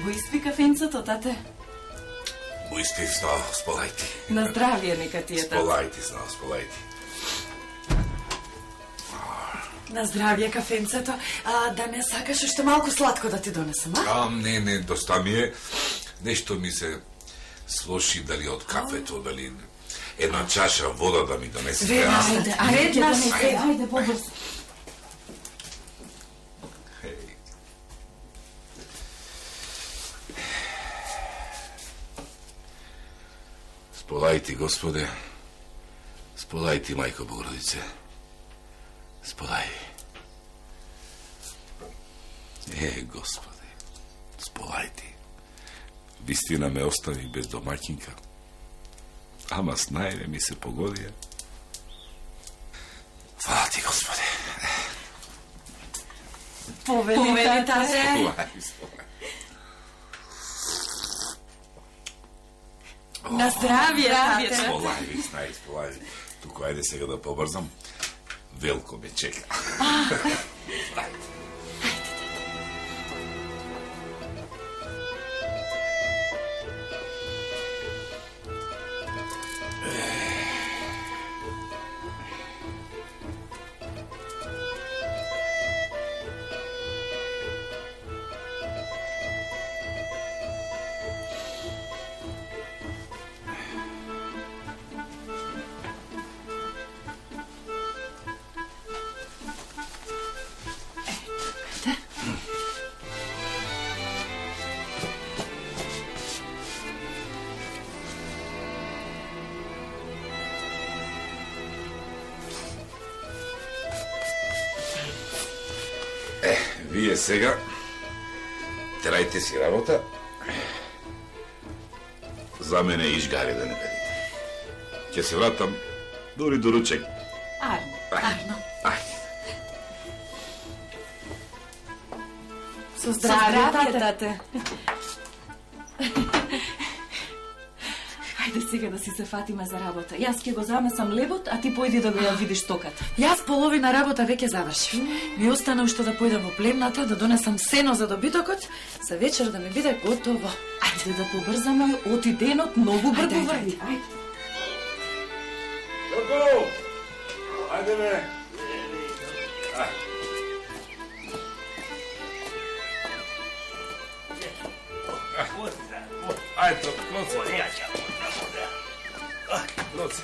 Го испи кафенцето, тате? Го испив, знao, сполајти. На здравие нека ти е, тате. Сполајти, знao, сполајти. На здравие кафенцето. Да не сакаш уште малку сладко да ти донесам, а? Не, доста ми е. Нешто ми се слоши, дали од кафето, дали една чаша вода да ми донесе. Ајде, побрзо. Сполајти, Господе, сполајти, Мајко Богородице, сполај. Господе, сполајти. Вистина ме остави без домаќинка, ама с најве ми се погодија. Фала ти, Господе. Повели, тате. На здравие, тате. Сполај. Туку, ајде сега да побрзам. Велко ме чека. Вие сега терајте си работа. За мене ишгари да не берите. Ќе се вратам дури до ручек. Арно. Со здравие, тате. Ајде сега да си се фатиме за работа. Јас ќе го замесам лебот, а ти појди да го ја видиш токата. Јас половина работа веќе завршив. Ми остана уште да појдам во племната, да донесам сено за добитокот, за вечер да ми биде готово. Ајде да побрзаме, оти денот многу брзо врви. Јоко! Ајде бе! Ајде, Лоце.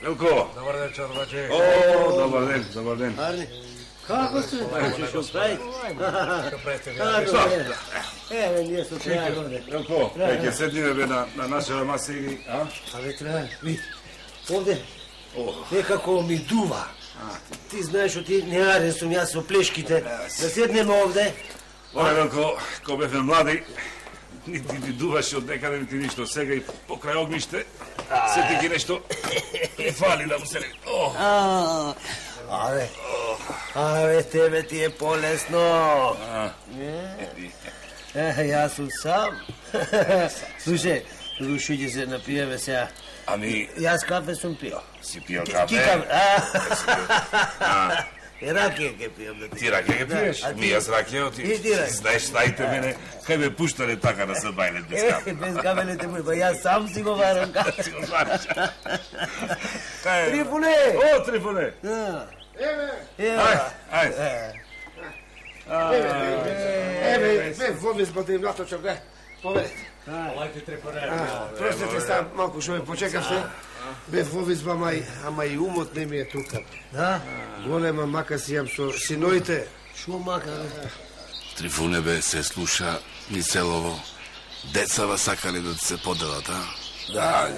Велко! Добар ден, чорбаче. Добар ден. Арни, како сте? Што правите? Што правите? Еве, ние сте треба овде. Велко, ќе седиме бе на нашава маса и... Абе, треба, вид, овде некако ми дува. Ти знаеш, ти неарен сум јас со плешките. Да седнеме овде. Оле, Велко, ко бевме млади, нити ти дуваше од некаде, нити ништо. Сега и покрај огниште, се ти ги нешто фали да му се... Абе, тебе ти е полесно. Јас сум сам. Слушај, Рушо, ќе се напиеме сега. Ами... Јас кафе сум пио. Си пио кафе? И ракија ќе пијам да ти. Ти ракија ќе пиеш? Ми јас ракија, ти знаеш, знаете мене, кај ме пуштале така да се бајлет без кафе. Без кафе не те пуштале, ба јас сам си го варам кафе. Си го вараш. Трифуне! О, Трифуне! Ајде. Еве, возбе да им наточам, поведете. Олајте Трифуне. Простите, став малку што ме почекавте. Бев во изба, ама и умот не ми е тука. Да? Голема мака си јам со синоите. Шо мака? Трифуне бе се слуша ни целово. Децава сакале да се поделат, а? Да,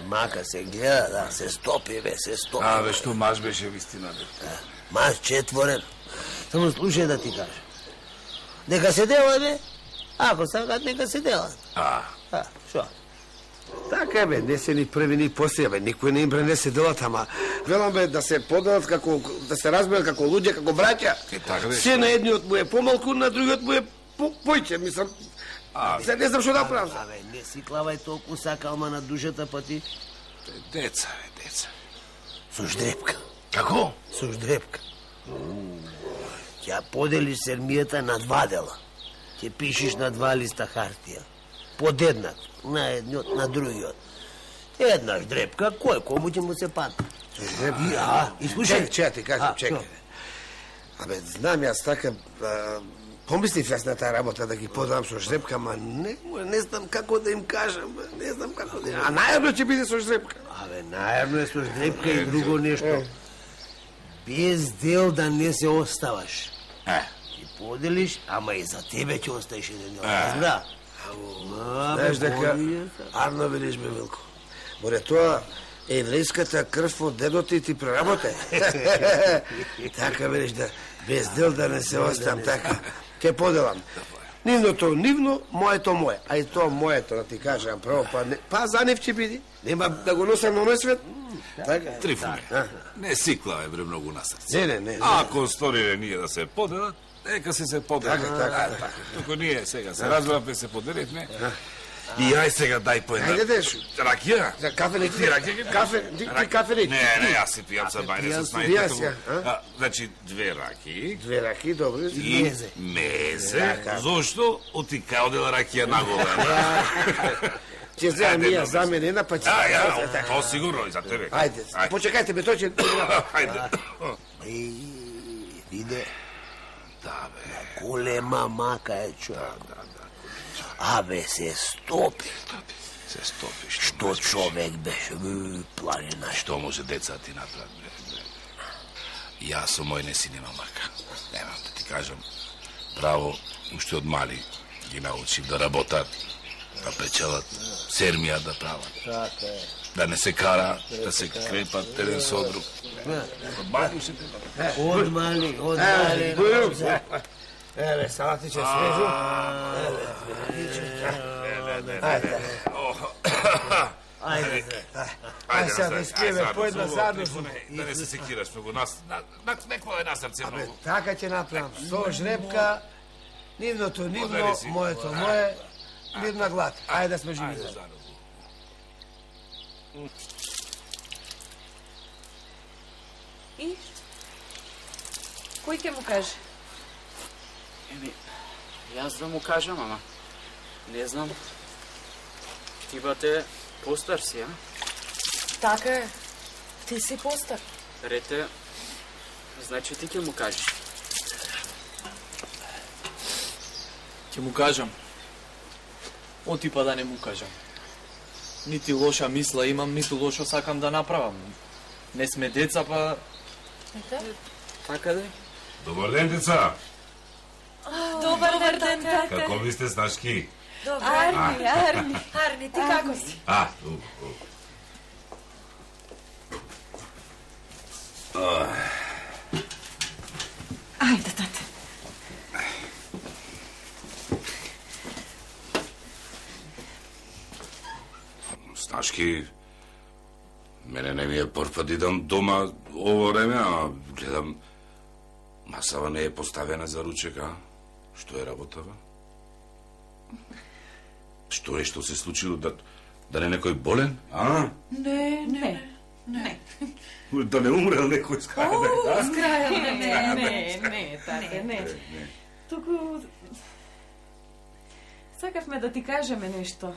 мака се гледа, да, се стопи, бе, се стопи. Бе, што маж беше вистина, бе. Маж четворен. Само слушај да ти кажа. Нека се делат, бе. Ако сакат, нека се делат. Шо? Така е, бе, не се ни први ни после, бе, никој не им пренесе делат, ама велам, бе, да се поделат како, да се разберат како луѓе, како браќа. Така бе. Се на едниот му е помалку, на другиот му е појќе, мислам. Се не знам што да правам. Абе, не си клавај толку сакалма на душата, па ти. Деца, бе, деца. Со ждрепка. Како? Со ждрепка. Ќе поделиш сермијата на 2 дела. Ќе пишеш на 2 листа хартија. Подеднак, на едниот, на другиот. Еднаш дрепка, кој кому ќе му се падне? И слушај, Чекай, ти кажам, чекай. Абе, знам јас така, помислив јас на таа работа да ги подам со жребка, ама не знам како да им кажам, не знам како да им... А најавно ќе биде со жребка. Абе, најавно е со жребка и друго нешто. Без дел да не се оставаш. Ти поделиш, ама и за тебе ќе оставиш еден дел. Разбра? Знаеш дека, арно велиш бе, Милко. Море тоа, еврејската крв од дедото ти преработе. Така велиш да, без дел да не се оставам, така. Ке поделам. Нивното нивно, моето мое. А и тоа моето, да ти кажам право, па за нив ќе биде. Нема да го носам на мој свет. Така. Трифуне, не си клаве бре многу на срце. Не. Ако сториме ние да се поделат, нека се поделат. Така. Туку ние сега се разбравме, се поделивме. И ај сега дај по една. Ајде деш. Ракија? За кафе не ти ракија? Кафе не. Не, јас си пијам са бајне со снајдето. Јас, Значи 2 раки. 2 раки, добро. И мезе. Зошто? Оти кај одела ракија нагола. Ќе земам и јас за мене една па ќе... Тоа сигурно и за тебе. Ајде, почекајте ме, тој ќе... Ајде. Виде, Да, бе. голема мака е човек. Абе, се стопи. Се стопи. Што човек беше, планина. Што може деца ти направат, бре? Јас со мој не си нема мака. Немам да ти кажам. Право, уште од мали ги научив да работат, да печелат, сермија да прават. Така е. Да не се кара, да се крепат еден со друг. Од мали уште те Од мали. Еве, салати ќе свежу. Ајде. Ајде сега да испиеме по една заедно. Да не се секираш многу. Некој е на срце многу. Така ќе направам. Со жребка, нивното нивно, моето мое, мирна глад. Ајде да сме живи. И? Кој ќе му каже? Јас да му кажам, ама не знам. Ти бате постар си, а? Така е. Ти си постар. Рете, значи ти ќе му кажеш. Ќе му кажам. Отипа да не му кажам. Нити лоша мисла имам, ниту лошо сакам да направам. Не сме деца, па... Така да е? Добар ден, деца. Добар ден, тата. Како ви сте, снашки? Арни. Арни, ти како си? Ајде, тате. Снашки, мене не ми е прв пат идам дома ово време, а гледам масава не е поставена за ручек, а? Што е работава? Што е, што се случило? Да не некој болен, а? Не. Да не умрел некој с краја, а? С краја, не, тате, не. Туку... Сакавме да ти кажеме нешто,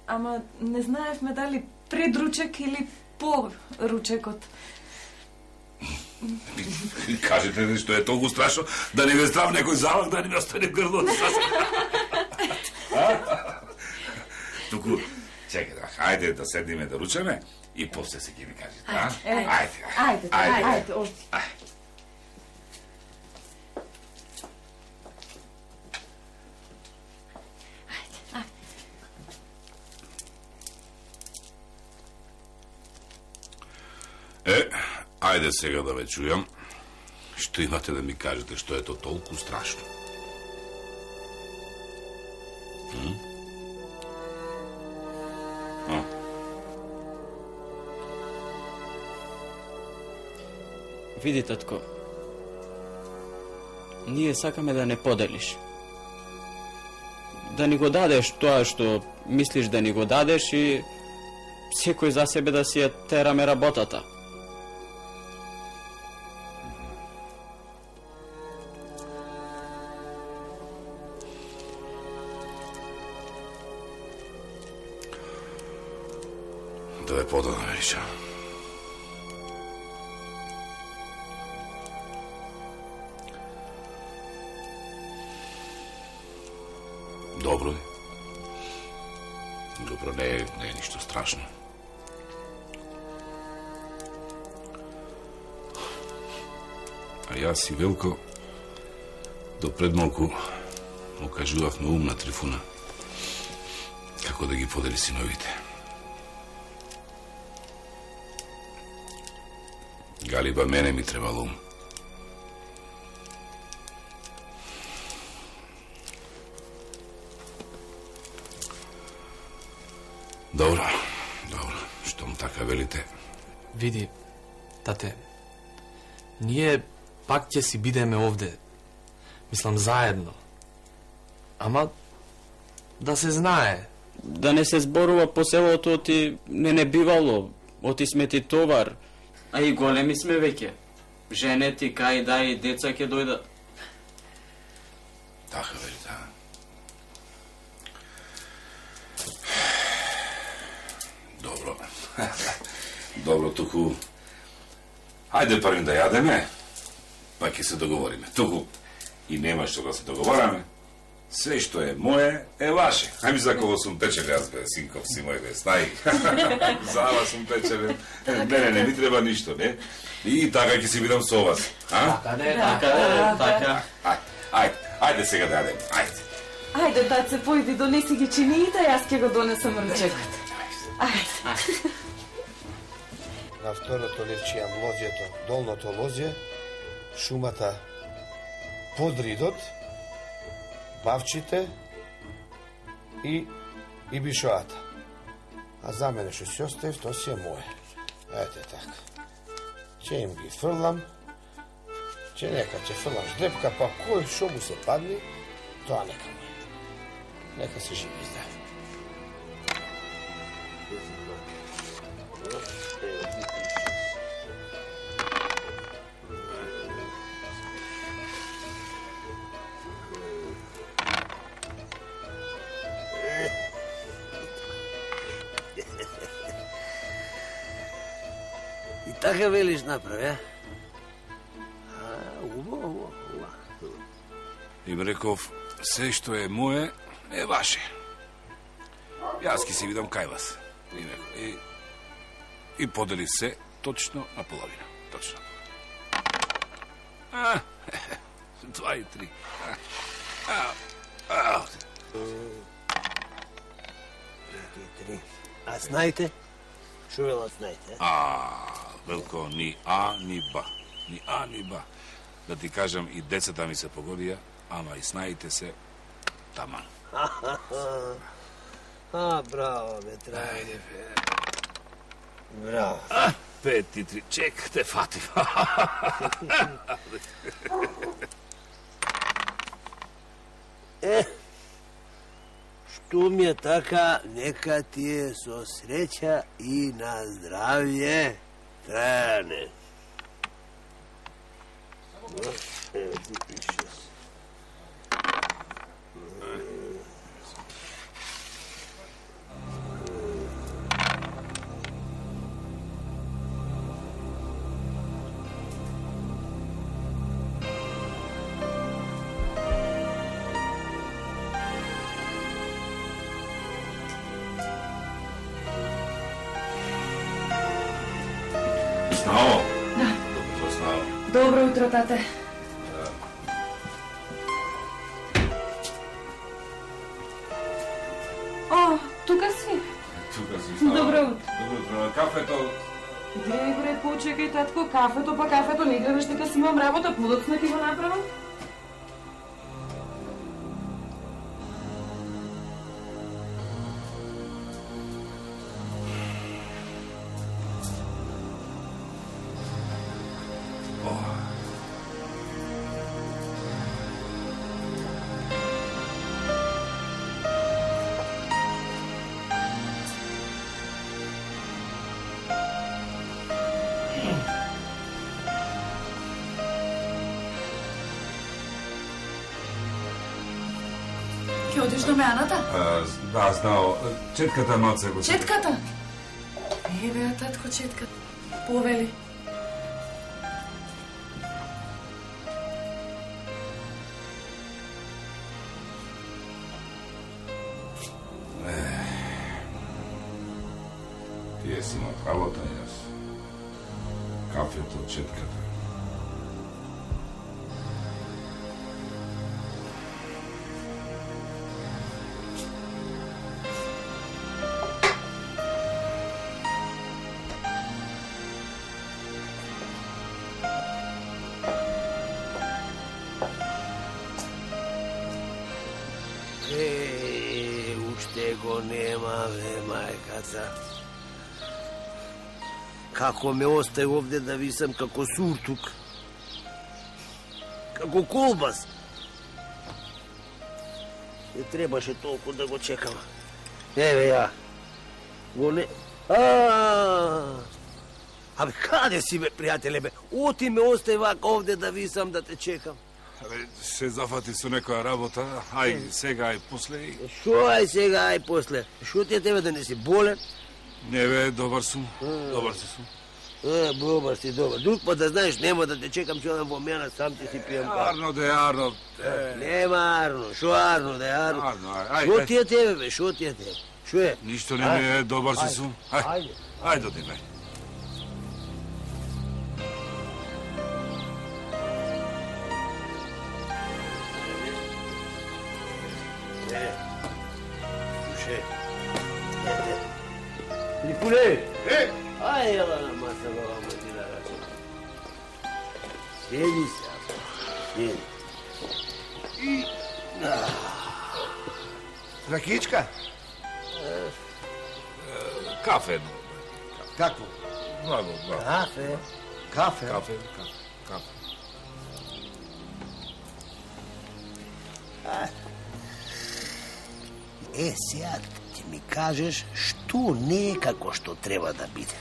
ама не знаевме дали пред ручек или по ручекот. Кажете нешто е толку страшно, да не ме здрав некој залак, да не ми остане грлото. Туку, чекай, ајде да седиме да ручаме и после се ќе ми кажете, а? Ајде, оди. Ајде сега да ве чујам. Што имате да ми кажете, што е то толку страшно? Види, татко, ние сакаме да не поделиш. Да ни го дадеш тоа што мислиш да ни го дадеш и секој за себе да си ја тераме работата. тоа е подобно, Мириша. Добро е. Добро, не е ништо страшно. А јас и Велко до пред малку му кажувавме ум на Трифуна како да ги подели синовите. Галиба, мене ми требало ум. Добро, штом така велите. Види, тате, ние пак ќе си бидеме овде. Мислам, заедно. Ама, да се знае. Да не се зборува по селото оти не бивало, оти сме ти товар. А и големи сме веќе. Жене ти, кај да и деца ќе дојдат. Така велите, а? Добро. Добро, туку... Ајде првим да јадеме, па ќе се договориме. Туку и нема што да се договораме. Све што е мое, е ваше. Ајми за кого сум печел, јас бе, синков си мој бе, знај. За сум печел. Не ми треба ништо, не? И така ќе си бидам со вас. Така не, така. Ајде сега да јадеме, ајде. Ајде, таце, појди, донеси ги чиниите, јас ќе го донесам ручекот. Ајде. На второто левчијам лозјето, долното лозје, шумата под ридот, бавчите и бишоата. А за мене што си оставив, то си е моје. Ете така. Ќе им ги фрлам, ќе нека ќе фрлам ждрепка, па кој шо му се падни, тоа нека му. Нека се живи и здрави. Така велиш направи, а? Убаво. Им реков, се што е мое, е ваше. Јас ќе си видам кај вас. И подели се точно на половина. Точно. 2 и 3. А знаете? Шо велат знаете? Велко, ни А, ни Ба. Ни А, ни Ба. Да ти кажам, и децата ми се погодија, ама и снаите се таман. Браво, бе, трајде. Браво. 5 и 3. Чек, те фатив. Што ми е така, нека ти е со среќа и на здравје, Траяне. Снао? Да. Добро, Снао. Добро утро, тате. О, тука си. Тука си, Снао. Добро утро. Добро утро. На кафето... Грегоре, почекај, татко, кафето, не гледаш дека си имам работа, подоцна ти го направам? Ќе одиш до Меаната? Да, Снао. Четката маце го... Четката? Еве ја татко четка. Повели. Тие си имат работа, јас. Кафето, четката. Уште го нема, бе, мајкаца. Како ме остави овде да висам како суртук. Како колбас. Не требаше толку да го чекам. Еве ја. Го не... Абе, каде си, бе, пријателе, бе? Оти ме остави вака овде да висам да те чекам. Абе, се зафати со некоја работа, ај сега, ај после. Шо ај сега, ај после? Шо ти е тебе да не си болен? Не бе, добар сум, добар сум. Добар си, добар. Друг пат да знаеш, нема да те чекам, ќе одам во мене, сам ти си пијам кафе. Арно де, Арно. Нема Арно, шо Арно де, Арно? Арно, ај. Шо ти е тебе, бе, шо ти е тебе? Шо е? Ништо не ми е, добар си сум. Ај, ај додим, ај. Николе! Ај, ела на маса, баба му ти да рачам. Седи се, седи. Ракичка? Кафе. Какво? Браво. Кафе? Кафе? Кафе. Сега ти ми кажеш што не е како што треба да биде.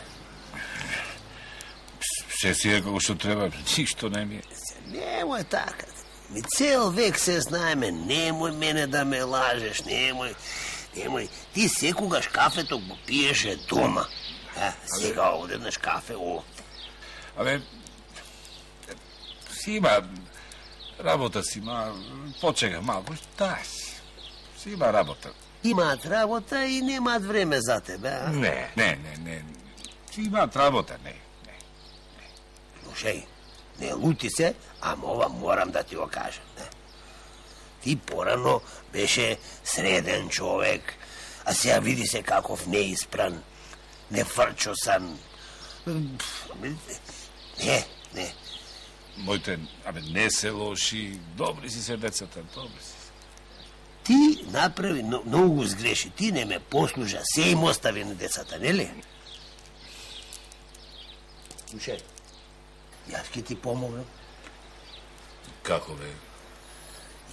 Се си е како што треба, ништо не ми е. Немој така. Ми цел век се знаеме, немој мене да ме лажеш, немој. Ти секогаш кафето го пиеше дома. Сега одеднаш кафе овде. Абе, си има работа си има, почека малку, си има работа. Имаат работа и немаат време за тебе, а? Не. Си имаат работа, не. Слушај, не лути се, ама ова морам да ти го кажам. Ти порано беше среден човек, а сега види се каков неиспран, нефрчосан. Не. Моите, не се лоши, добри си се децата, добри си. Ти направи многу сгреши, ти не ме послужа, се им остави на децата, нели? Слушај, јас ќе ти помогнам. Како бе?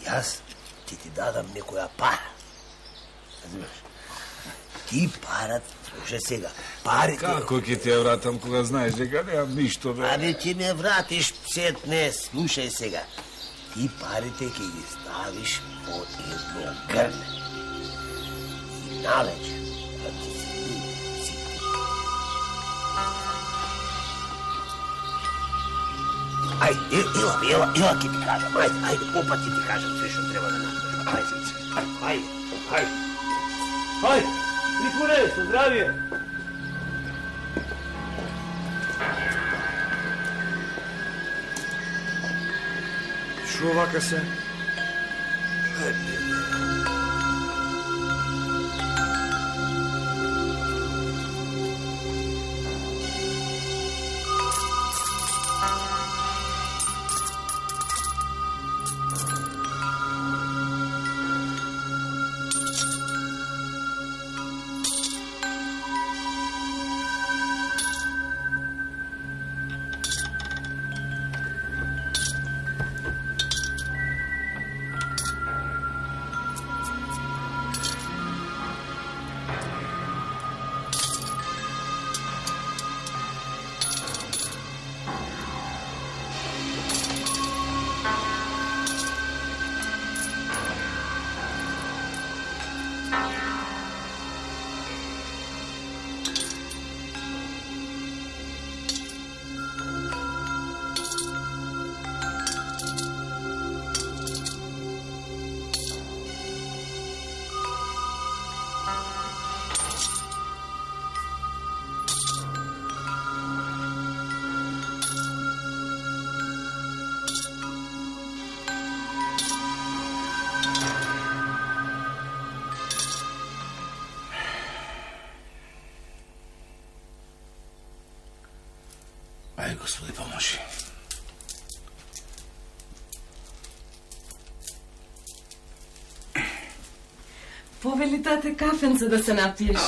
Јас ќе ти дадам некоја пара. Разбираш? Ти парат, слушај сега, парите... Како ќе ти ја вратам кога знаеш дека немам ништо, бе? Абе, ќе ме вратиш сетне, слушај сега. Ти парите ќе ги ставиш по едно грне. И налече, да ти си... Ајде, ела ќе ти кажам, ајде, опа ќе ти кажам се што треба да направиш. Ајде. Николе, со здравие. Шо вака се? Повели тате кафенце да се напиеш.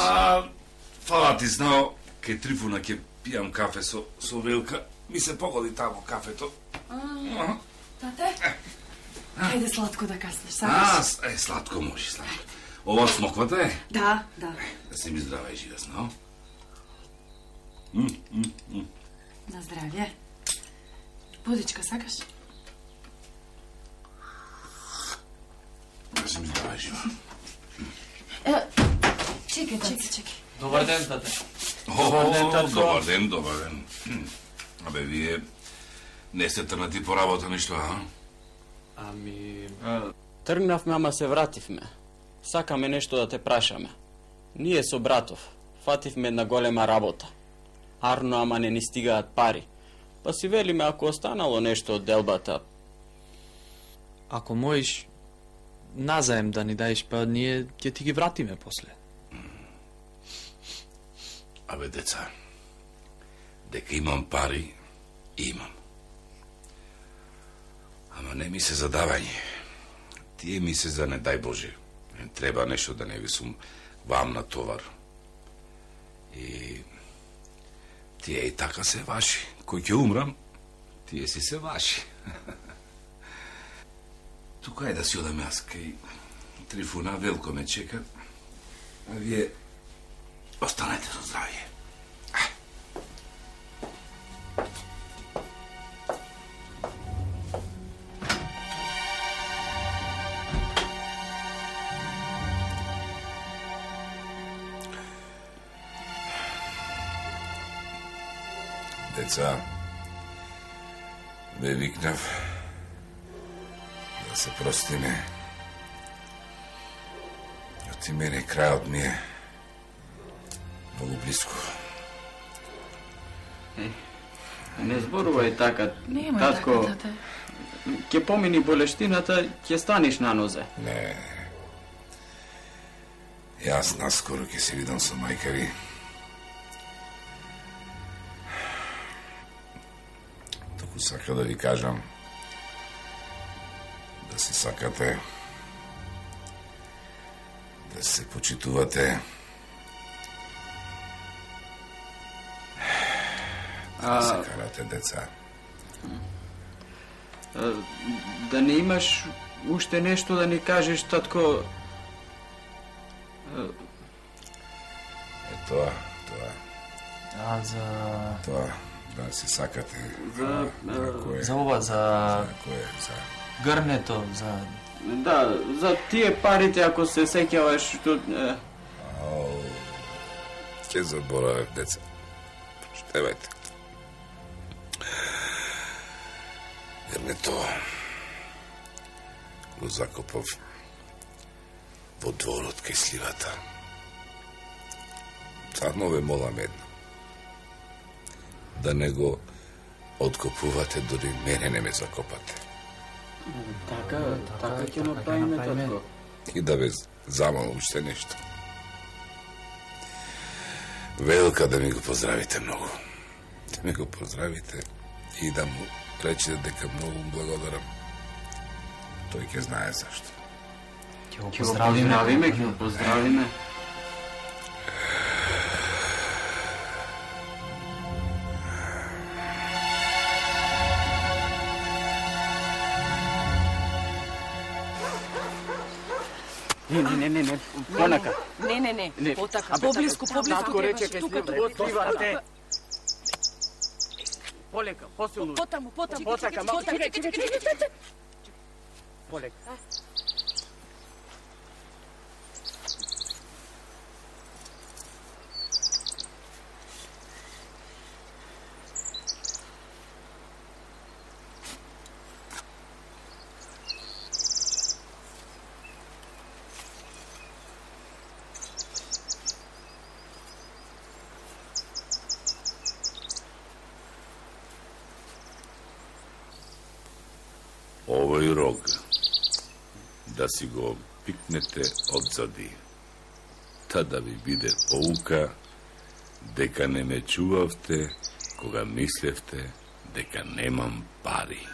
Фала ти знао, кај Трифуна ќе пијам кафе со Велка. Ми се погоди тамо кафето. Тате? Хајде сладко да каснеш, сакаш? Сладко може, сладко. Ова смоквата е? Да. Да се ми здрава и жива, знао. На здравје. Водичка, сакаш? Да се ми здрава и жива. Чекај. Добар ден, тате. Добар ден. Абе, вие не сте трнати по работа ништо, а? Ами... Тргнавме, ама се вративме. Сакаме нешто да те прашаме. Ние со братов фативме една голема работа. Арно, ама не ни стигаат пари. Па си велиме, ако останало нешто од делбата... Ако можеш назаем да ни даеш, па ние ќе ти ги вратиме после. Абе, деца, дека имам пари, имам. Ама не ми се задавање. Тие ми се за не дај Боже. Не треба нешто да не ви сум вам на товар. И тие и така се ваши. Кој ќе умрам, тие си се ваши. Тука е да си одам јас кај Трифуна, Велко ме чека. А вие останете со здравје. Деца, ве викнав да се простиме. Оти мене крајот ми е многу близко. Не зборувај така, Нема татко. така, тате. Ќе помини болештината, ќе станеш на нозе. Не. Јас наскоро ќе се видам со мајка ви. Току сака да ви кажам да се сакате, да се почитувате. Да се карате, деца. Да не имаш уште нешто да ни кажеш, татко? Тоа. А за... Тоа, да се сакате. За ова, за... Кое, за... Грнето, за... Да, за тие парите, ако се сеќаваш, што... Ќе заборавев, деца. Штевајте. Грнето го закопав во дворот кај сливата. Само ве молам едно. Да не го откопувате, дори мене не ме закопате. Така ќе направиме, татко. И да ве замолам уште нешто. Велка да ми го поздравите многу. Да ми го поздравите и да му речете дека многу му благодарам. Тој ќе знае зашто. Ќе го Ќе го поздравиме. Не, понака. Не. Потака, поблиску рече требаш. ке Тука го отливате. Полека, посилно. Потаму. Потака, Чекай. Полека. Овој рог да си го пикнете одзади, та да ви биде поука дека не ме чувавте кога мислевте дека немам пари.